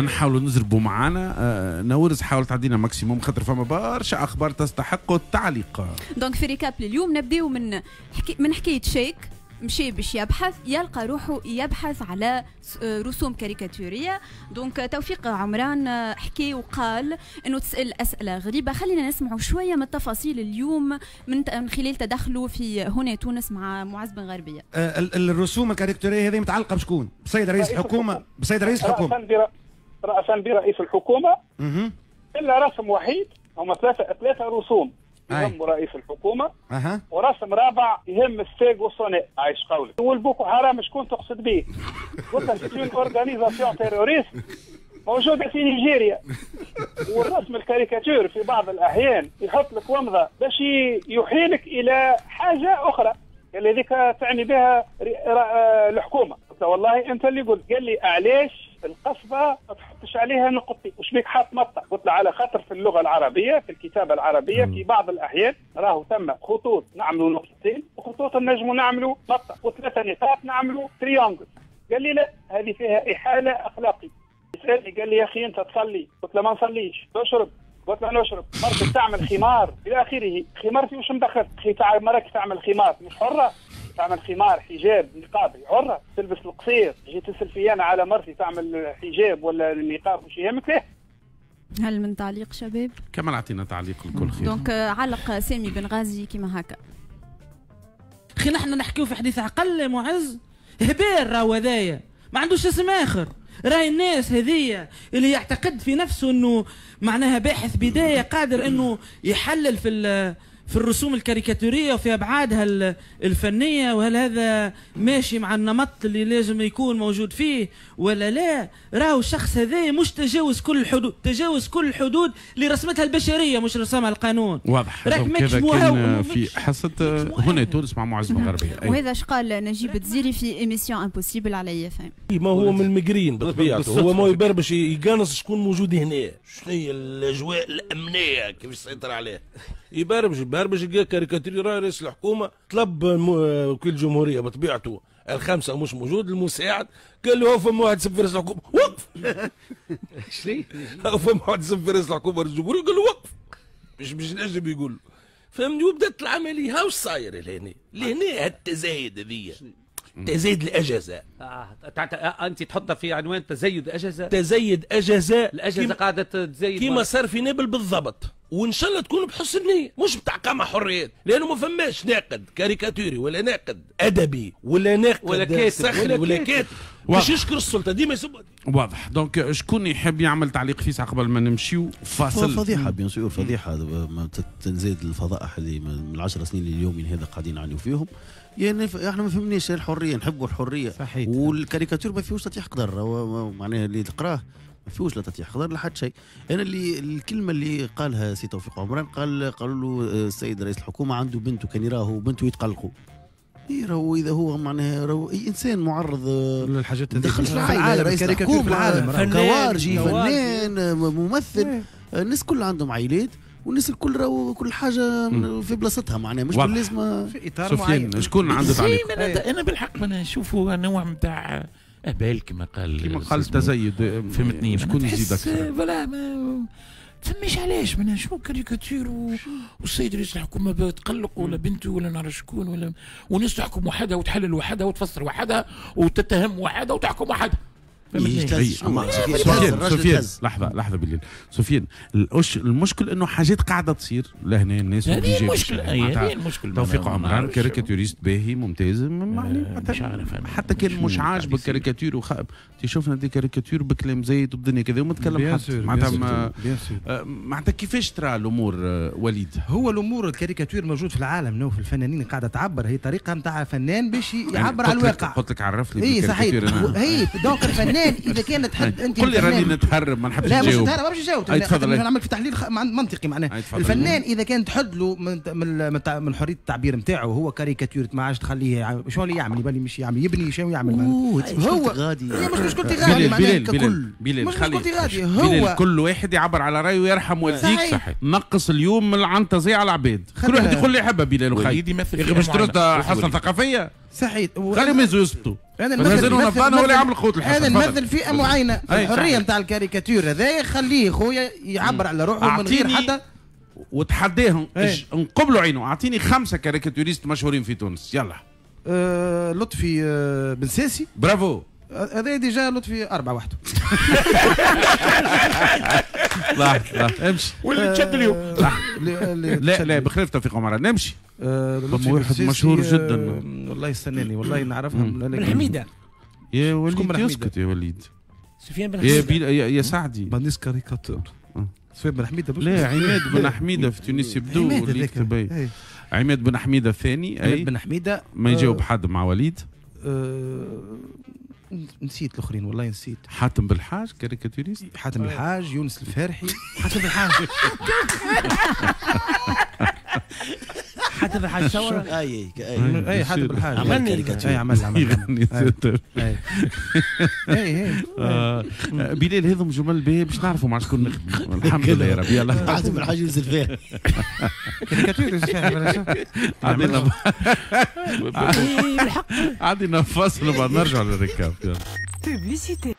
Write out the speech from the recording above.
نحاولوا نزربوا معانا نورز، حاول تعدينا maximum خاطر فما برشا اخبار تستحق التعليق. donc في récap اليوم نبداو من حكاية شيك مشي باش يبحث، يلقى روحه يبحث على رسوم كاريكاتوريه. donc توفيق عمران حكي وقال انه تسال اسئلة غريبة. خلينا نسمعوا شوية من التفاصيل اليوم من خلال تدخله في هنا تونس مع معز بن غربية. الرسوم الكاريكاتوريه هذه متعلقه بشكون؟ بسيد رئيس الحكومة؟ بسيد رئيس الحكومة رأسا برئيس الحكومة. الا رسم وحيد، هما ثلاثة رسوم يهم رئيس الحكومة. ورسم رابع يهم الساق والصناء. عايش قولك. والبوكو حرام شكون تقصد به؟ قلت لك une organisation terroriste موجودة في نيجيريا. والرسم الكاريكاتير في بعض الاحيان يحط لك ومضة باش يحيلك الى حاجة اخرى اللي ذيك تعني بها الحكومة. قلت والله انت اللي قلت. قال لي علاش القصبة ما تحطش عليها نقطتين؟ وش بيك حاط مطه؟ قلت له على خاطر في اللغة العربية، في الكتابة العربية، في بعض الاحيان راهو ثم خطوط نعملوا نقطتين، وخطوط نجموا نعملوا مطه، وثلاثة نقاط نعملوا triangle. قال لي لا، هذه فيها احالة اخلاقية. سالني قال لي يا اخي انت تصلي؟ قلت له ما نصليش. تشرب؟ قلت له نشرب. مرتك تعمل خمار الى اخره. خمارتي وش مدخل؟ مرتك تعمل خمار مش حره؟ تعمل خمار، حجاب، نقاب، حره. تلبس القصير. جيت تسال في انا على مرتي تعمل حجاب ولا النقاب وش يهمك فيه؟ هل من تعليق شباب؟ كمال اعطينا تعليق الكل خير. donc علق سامي بن غازي كيما هكا. خي نحن نحكيو في حديث عقل يا معز، هبال راهو هذايا، ما عندوش اسم اخر. راهي الناس هذية اللي يعتقد في نفسه انه معناها باحث بداية قادر انه يحلل في الرسوم الكاريكاتوريه وفي ابعادها الفنية، وهل هذا ماشي مع النمط اللي لازم يكون موجود فيه ولا لا. راهو الشخص هذا مش تجاوز كل الحدود، تجاوز كل الحدود اللي رسمتها البشرية مش رسمها القانون. واضح. راك ماكش كان في حصة هنا تونس مع معز بن غربية. وهذا اش قال نجيب الدزيري في émission impossible على IFM. ما هو من المقرين بطبيعته، هو ما يبربش يقانص شكون موجود هنا، شنو هي الاجواء الامنية كيفاش سيطر عليه. يبربش لقى كاريكاتير رئيس الحكومة، طلب وكيل الجمهورية بطبيعته الخمسة مش موجود، المساعد قال له فما واحد سب في رئيس الحكومة وقف. شنو؟ فما واحد سب في رئيس الحكومة رئيس الجمهورية قال له وقف، مش نجم يقول له، فهمني. وبدات العملية. هاو صاير لهنا لهنا التزايد هذيا، تزايد الاجهزة. انت تحطها في عنوان تزايد اجهزة، تزايد اجهزة، الاجهزة قاعدة تزايد كيما صار في نابل بالضبط. وان شاء الله تكون بحسن نيه، مش بتاع قمع حريات، لانه ما فماش ناقد كاريكاتوري ولا ناقد ادبي ولا ناقد ولا كاتب ولا كاتب باش يشكر السلطة ديما يسب. واضح. donc شكون يحب يعمل تعليق فيسع قبل ما نمشيو فاصل؟ فضيحة bien sûr، فضيحة تنزيد الفضائح اللي من 10 سنين لليومين هذا قاعدين نعانيو فيهم. يعني احنا ما فهمناش الحرية، نحبوا الحرية. صحيح. والكاريكاتور ما فيهوش تطيح قدر، معناها اللي تقراه ما فيهوش لا تطيح قدر لا حتى شيء. انا اللي الكلمة اللي قالها سي توفيق عمران، قالوا له السيد رئيس الحكومة عنده بنته كان يراه بنته يتقلقوا. راهو اذا هو معناها راهو اي انسان معرض للحاجات هذه دخلش العائلة، رئيس الحكومة، كوارجي، فنان، ممثل، الناس كل عندهم عائلات والناس الكل راهو كل حاجة في بلاصتها، معناها مش لازم في اطار معين. شكون عنده تعليق؟ انا بالحق انا نشوفه نوع نتاع اهبال كما قال، كما قال التزايد، فهمتني. شكون يزيد اكثر؟ voilà ما فماش علاش ما شنو كاريكاتير والسيد رئيس الحكومة تقلق ولا بنته ولا نعرف شكون ولا، والناس تحكم وحدها وتحلل وحدها وتفسر وحدها وتتهم وحدها وتحكم وحدها. سفيان، سفيان لحظة بالليل. سفيان، المشكل انه حاجات قاعدة تصير لهنا الناس. هذه المشكلة، هذه المشكلة. توفيق عمران caricaturiste باهي ممتاز، مش عارف حتى كان مش عاجبك كاريكاتير شفنا des caricatures بكلام زايد وبدنيا كذا وما تكلم حد. معناتها معناتها كيفاش ترى الامور وليد؟ هو الامور الكاريكاتير موجود في العالم، نو في الفنانين قاعدة تعبر، هي طريقه نتاع فنان باش يعبر على الواقع. قلت لك عرف لي اي صحيح. هي donc الفنان الفنان اذا كان تحد انت قل لي راني نتهرب ما نحبش لا نجاوب. مش نتهرب، ما باش نجاوب، نعمل في تحليل منطقي معناه. الفنان اذا كان تحد له من حرية التعبير نتاعو، هو كاريكاتير ما عادش تخليه شو اللي يعمل، يبالي مش يعمل يبني شو يعمل هو غادي. مش مشكلتي غادي معناها ككل، مش مشكلتي غادي، هو كل واحد يعبر على رايه ويرحم والديك. نقص اليوم من العنطزيه على العباد، كل واحد يقول اللي يحبه. بلال وخي باش ترد حصة ثقافية صحيح، خليهم يزبطوا. انا نمثل ولا يعمل خوت الحصة. انا نمثل فئة معينة، الحرية نتاع الكاريكاتير هذا خليه خويا يعبر على روحه من غير حتى وتحداهم نقبلوا عينه. اعطيني 5 caricaturistes مشهورين في تونس يلا. لطفي بن ساسي. برافو، هذا déjà لطفي 4 وحده. لا لا امشي واللي تشد اليوم. لا لا بخلاف توفيق عمران نمشي. واحد مشهور جدا والله يستناني والله نعرفها. بن حميده. يا وليد اسكت يا وليد. سفيان بن حميده. يا سعدي مانيش كاريكاتور. سفيان بن حميده. لا عماد بن حميده في تونس يبدو اللي يكتب. عماد بن حميده الثاني. عماد بن حميده ما يجاوب حد مع وليد. نسيت الاخرين والله نسيت. حاتم بالحاج caricaturiste. حاتم بالحاج، يونس الفارحي. حاتم بالحاج. حاتم بالحاج صور. اي اي حاتم بالحاج عمل اي عمل يغني. اي بلال هذم جمل باهي باش نعرفوا مع شكون نخدموا. الحمد لله يا رب. يلا حاتم بالحاج يونس الفارحي كاريكاتور. يونس الفارحي. عندنا فاصل وبعد نرجع لل récap. Publicité.